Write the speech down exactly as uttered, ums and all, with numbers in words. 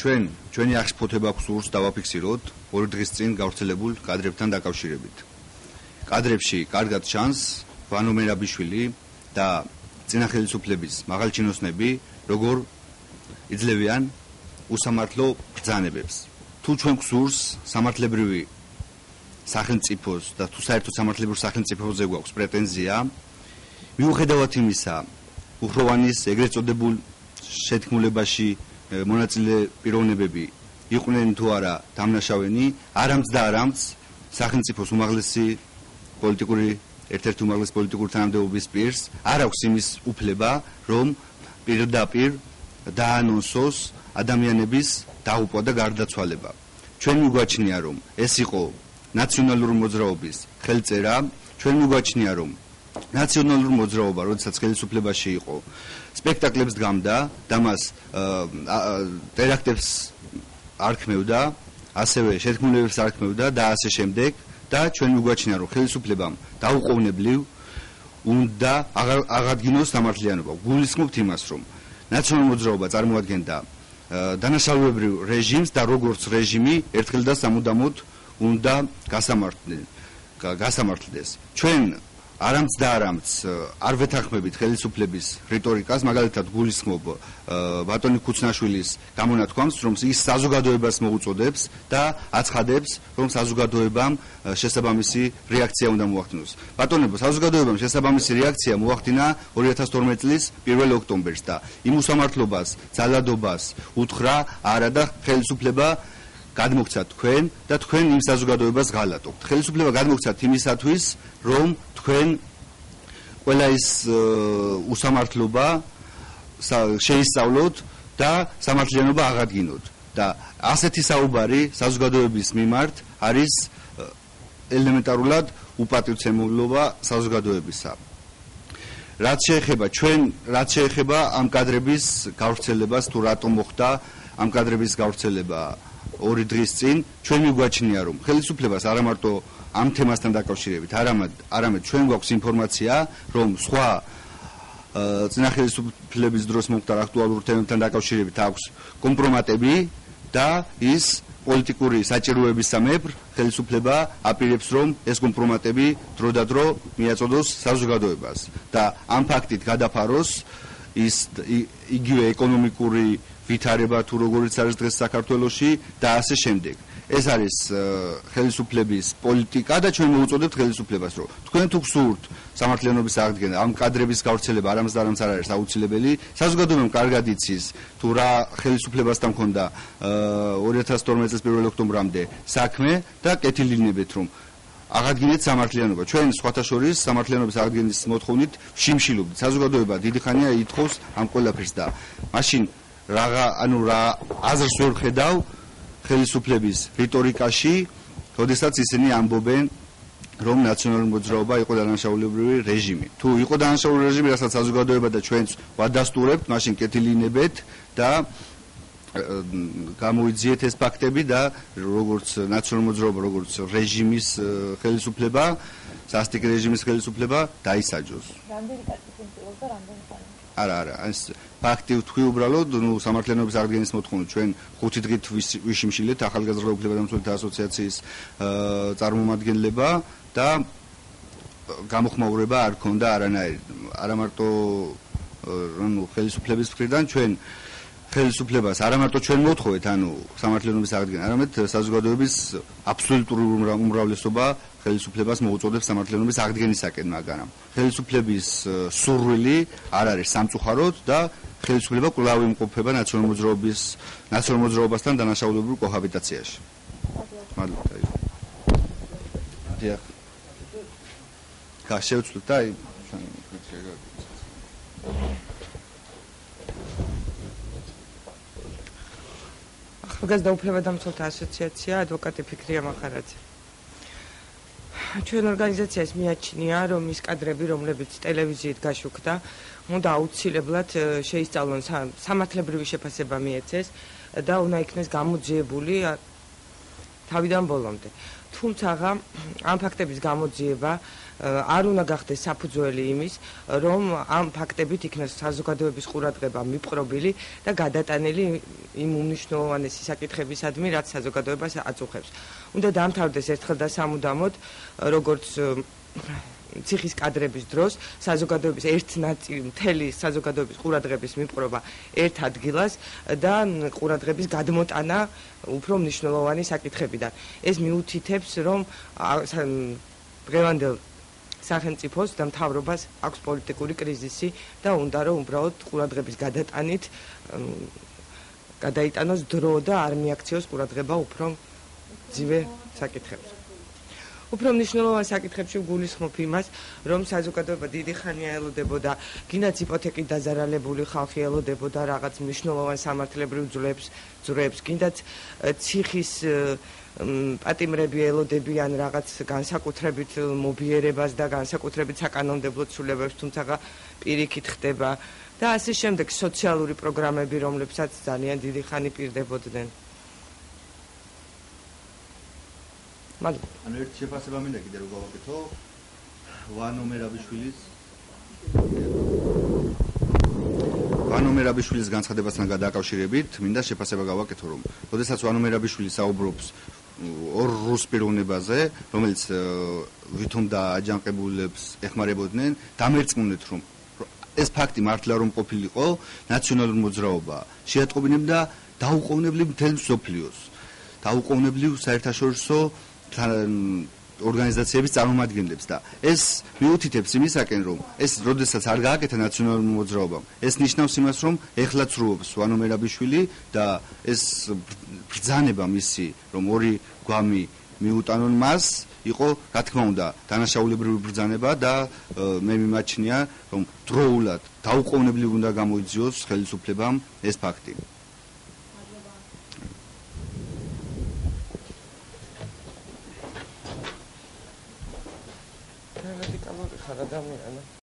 ჩვენ ჩვენი აღშფოთება გვსურს დავაფიქსიროთ ორი დღის წინ გავრცელებულ კადრებთან დაკავშირებით. კადრებში კარგად ჩანს ვანო მერაბიშვილი და წინა ხელისუფლების მაღალჩინოსნები როგორ იძლევიან უსამართლო ბრძანებებს. თუ ჩვენ გვსურს სამართლებრივი სახელმწიფოს და თუ საერთოდ სამართლებრივ სახელმწიფოზე გვაქვს პრეტენზია, მიუხედავად იმისა, უხროვანის ეგრეთ წოდებულ შეთქმულებაში მონაწილე პიროვნებები იყვნენ თუ არა დამნაშავენი, არამც და არამც სახელმწიფოს უმაღლესი პოლიტიკური ერთ-ერთი უმაღლესი პოლიტიკური თანამდებობის პირს არ აქვს იმის უფლება, რომ პირდაპირ დაანონსოს ადამიანების დაღუპვა და გარდაცვალება. ჩვენ მიგვაჩნია, რომ ეს იყო ნაციონალური მოძრაობის ხელწერა, ჩვენ მიგვაჩნია, რომ ნაციონალური მოძრაობა, როდესაც ხელისუფლებაში იყო, სპექტაკლებს დგამდა და მას ტერაქტებს არქმევდა, ასევე შეთქმულებებს არქმევდა და ასე შემდეგ და ჩვენ მიგვაჩნია, რომ ხელისუფლებამ დაუყოვნებლივ უნდა აღადგინოს სამართლიანობა. გულისხმობთ იმას, რომ ნაციონალური მოძრაობა წარმოადგენდა დანაშაულებრივ რეჟიმს და როგორც რეჟიმი ერთხელ და სამუდამოდ უნდა გასამართლდეს. ჩვენ არამც და არამც არ ვეთანხმებით ხელისუფლების რიტორიკას, მაგალითად გულისხმობ ბატონი ქუცნაშვილის გამონათქვამს, რომ ის საზოგადოებას მოუწოდებს და აცხადებს, რომ საზოგადოებამ შესაბამისი რეაქცია უნდა მოახდინოს. ბატონებო, საზოგადოებამ შესაბამისი რეაქცია მოახდინა ორი ათას თორმეტი წლის პირველ ოქტომბერს და იმ უსამართლობას, ძალადობას უთხრა არა და ხელისუფლება გადმოგცა თქვენ და თქვენ იმ საზოგადოებას ღალატობთ. ხელისუფლება გადმოგცათ იმისათვის, რომ თქვენ ყველა ის უსამართლობა შეისწავლოთ და სამართლიანობა აღადგინოთ და ასეთი საუბარი საზოგადოების მიმართ არის ელემენტარულად უპატივცემულობა საზოგადოებისა. რაც შეეხება ჩვენ, რაც შეეხება ამ კადრების გავრცელებას, თუ რატომ მოხდა ამ კადრების გავრცელება ორი დღის წინ, ჩვენ მიგვაჩნია, რომ ხელისუფლებას არა მარტო ამ თემასთან დაკავშირებით, არამედ არამედ ჩვენ გვაქვს ინფორმაცია, რომ სხვა წინა ხელისუფლების დროს მომხდარ აქტუალურ თემებთან დაკავშირებით აქვს კომპრომატები და ის პოლიტიკური საჭიროებისამებრ ხელისუფლება აპირებს, რომ ეს კომპრომატები დროდადრო მიაწოდოს საზოგადოებას და ამ ფაქტით გადაფაროს ის იგივე ეკონომიკური ვითარება თუ როგორიც არის დღეს საქართველოში და ასე შემდეგ. ეს არის ხელისუფლების პოლიტიკა და ჩვენ მოუწოდებთ ხელისუფლებას, რომ თქვენ თუ გსურთ სამართლიანობის აღდგენა, ამ კადრების გავრცელება არამც და არამც არ არის აუცილებელი. საზოგადოებამ კარგად იცის თუ რა ხელისუფლებასთან მქონდა ორი ათას თორმეტი წლის პირველ ოქტომბრამდე საქმე და კეთილინებეთ, რომ აღადგინეთ სამართლიანობა. ჩვენ სხვათა შორის სამართლიანობის აღდგენის მოთხოვნით ვშიმშილობთ. საზოგადოება დიდი ხანია ითხოვს ამ ყველაფერს და მაშინ რაღა ანუ რა აზრს ვერ ხედავ ხელისუფლების რიტორიკაში, როდესაც ისინი ამბობენ, რომ ნაციონალური მოძრაობა იყო დანაშაულებრივი რეჟიმი. თუ იყო დანაშაულებრივი რეჟიმი, რასაც საზოგადოება და ჩვენც ვადასტურებთ, მაშინ კეთილინებეთ და გამოიძიეთ ეს ფაქტები და როგორც ნაციონალური მოძრაობა, როგორც რეჟიმის ხელისუფლება, სასტიკ რეჟიმის ხელისუფლება დაისაჯოს. რამდენი კაცი ფუნქციონირებს და რამდენი ხანი? არა, არა, ეს ფაქტი ვთქვი უბრალოდ, ნუ სამართლიანობის აღდგენის მოთხოვნით ჩვენ ხუთი დღით ვიშიმშილეთ ახალგაზრდა უფლებადამცველთა ასოციაციის წარმომადგენლება და გამოხმაურება არ ქონდა არანაირი. არა მარტო ანუ ხელისუფლების მხრიდან ჩვენ ხელისუფლებას არა მარტო ჩვენ მოთხოვეთ, ანუ სამართლიანობის აღდგენა, არამედ საზოგადოების აბსოლუტური უმრავლესობა ხელისუფლებას მოუწოდებს სამართლიანობის აღდგენისაკენ, მაგრამ ხელისუფლების სურვილი არ არის სამწუხაროდ და ხელისუფლება კვლავ იმყოფება ნაციონალური მოძრაობის ნაციონალური მოძრაობასთან დანაშაულებრივ კოჰაბიტაციაში. მადლობა. დიახ. გაშევწვით და აი ახალგაზრდა უფლებადამცველთა ასოციაცია, ადვოკატი ფიქრია მახარაძე. ჩვენ ორგანიზაციას მიაჩნია, რომ ის კადრები, რომლებიც ტელევიზიით გაშუქდა, უნდა აუცილებლად შეისწავლონ სამართლებრივი შეფასება მიეცეს და უნდა იქნეს გამოძიებული თავიდან ბოლომდე. თუმცა ამ ფაქტების გამოძიება არ უნდა გახდეს საფუძველი იმის, რომ ამ ფაქტებით იქნას საზოგადოების ყურადღება მიპყრობილი და გადატანილი იმ უმნიშვნელოვანესი საკითხებისადმი, რაც საზოგადოებას აწუხებს. უნდა დამთავრდეს ერთხელ და სამუდამოდ, როგორც ციხის კადრების დროს საზოგადოების ერთ ნაწილი მთელი საზოგადოების ყურადღების მიპყრობა ერთ ადგილას და ყურადღების გადმოტანა უფრო მნიშვნელოვანი საკითხებიდან. ეს მიუთითებს, რომ დღევანდელ სახელმწიფოს და მთავრობას აქვს პოლიტიკური კრიზისი და უნდა რომ უბრალოდ ყურადღების გადატანით გადაიტანოს დრო და არ მიაქციოს ყურადღება უფრო ძვირ საკითხებზე. უფრო მნიშვნელოვან საკითხებში გულისხმობ იმას, რომ საზოგადოება დიდი ხანია ელოდებოდა, გინდაც იპოთეკით დაზარალებული ხალხი ელოდებოდა რაღაც მნიშვნელოვან სამართლებრივ ძვლებს, ძვრებს, გინდაც ციხის პატიმრები ელოდებიან რაღაც განსაკუთრებით მობიერებას და განსაკუთრებით საკანონმდებლო ცვლილებებს, თუმცა პირიქით ხდება და ასე შემდეგ სოციალური პროგრამები, რომლებსაც ძალიან დიდი ხანი პირდებოდნენ. მადლობა. ანუ ერთ შეფასება მინდა კიდე რომ გავაკეთო ვანო მერაბიშვილის ვანო მერაბიშვილის განცხადებასთან გადააკავშირებით მინდა შეფასება გავაკეთო რომ როდესაც ვანო მერაბიშვილი საუბრობს ორ რუს პიროვნებაზე, რომელიც ვითომ და აჯანყებულებს ეხმარებოდნენ, დამერწმუნეთ რომ ეს ფაქტი მართლა რომ ყოფილიყო ნაციონალური მოძრაობა შეატყობინებდა დაუყოვნებლივ მთელ მსოფლიოს, დაუყოვნებლივ საერთაშორისო ორგანიზაციების წარმომადგენლებს და ეს მიუთითებს იმისაკენ რომ ეს როდესაც არ გააკეთა ნაციონალურ მოძრაობამ ეს ნიშნავს იმას რომ ეხლა ცრუობს ვანო მერაბიშვილი და ეს ბრძანება მისი რომ ორი გვამი მიუტანონ მას იყო რა თქმა უნდა დანაშაულებრივი ბრძანება და მე მიმაჩნია რომ დროულად დაუყოვნებლივ უნდა გამოიძიოს ხელისუფლებამ ეს ფაქტი. რადიკალური ხარ ადამიანი.